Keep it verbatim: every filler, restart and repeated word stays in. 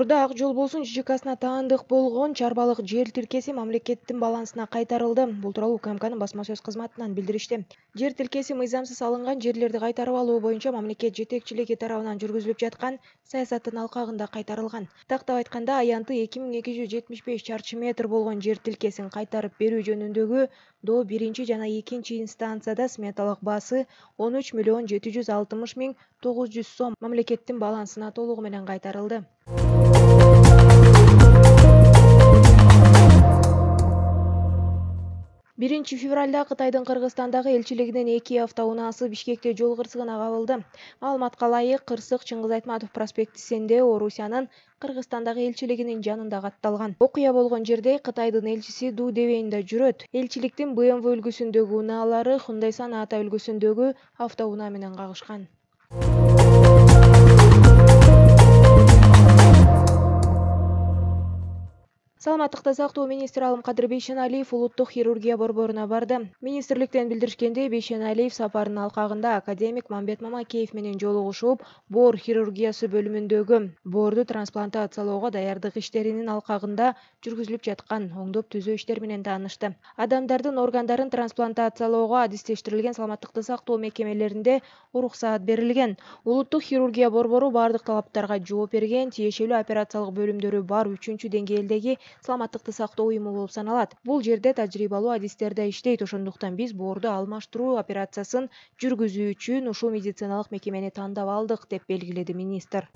Борбордо Ак жол болсун ЖЖКсына таандык болгон чарбалык жер тилкеси мамлекеттин балансына кайтарылды. Бул тууралуу УКМКнын басма сөз кызматынан билдиришти. Жер тилкеси мыйзамсыз алынган жерлерди кайтарып алуу боюнча мамлекет жетекчилиги тарабынан жүргүзүлүп жаткан саясаттын алкагында кайтарылган. Тактап айтканда, аянты эки миң эки жүз жетимиш беш чарчы метр болгон жер тилкесин кайтарып берүү жөнүндөгү до биринчи жана экинчи инстанцияда сметалык баасы он үч миллион жети жүз алтымыш миң тогуз жүз сом мамлекеттин балансына толугу менен кайтарылды. биринчи февралда Кытайдын Кыргызстандагы элчилигинин эки автоунаасы Бишкекте жол кырсыгына кабылды. Маалыматка ылайык, кырсык Чыңгыз Айтматов проспектисинде Орусиянын Кыргызстандагы элчилигинин жанында катталган. Окуя болгон жерде Кытайдын элчиси Ду Девейнда жүрөт. Элчиликтин бэ эм вэ үлгүсүндөгү унаалары Hyundai Sonata үлгүсүндөгү автоунаа менен кагышкан. Саламаттыкты сактоо министри Алымкадыр Бейшеналиев улуттук хирургия борборуна барды. Министрликтен билдиришкендей, Бейшеналиев сапарынын алкагында академик Мамбет Мамакеев менен жолугушуп, боор хирургиясы бөлүмүндөгү боорду трансплантациялоого даярдык иштеринин алкагында жүргүзүлүп жаткан оңдоп түзөө иштер менен таанышты. Адамдардын органдарын трансплантациялоого адистештирилген саламаттыкты сактоо мекемелеринде уруксаат берилген. Улуттук хирургия борбору бардык талаптарга жооп берген, тиешелүү операциялык бөлүмдөрү бар үчүнчү деңгээлдеги саламаттыкты сактоо уюму болуп саналат. Бул жерде тажрыйбалуу адистер да иштейт, ошондуктан биз боорду алмаштыруу операциясын жүргүзүү үчүн ушул медициналык мекемени тандап алдык, деп белгиледи министр.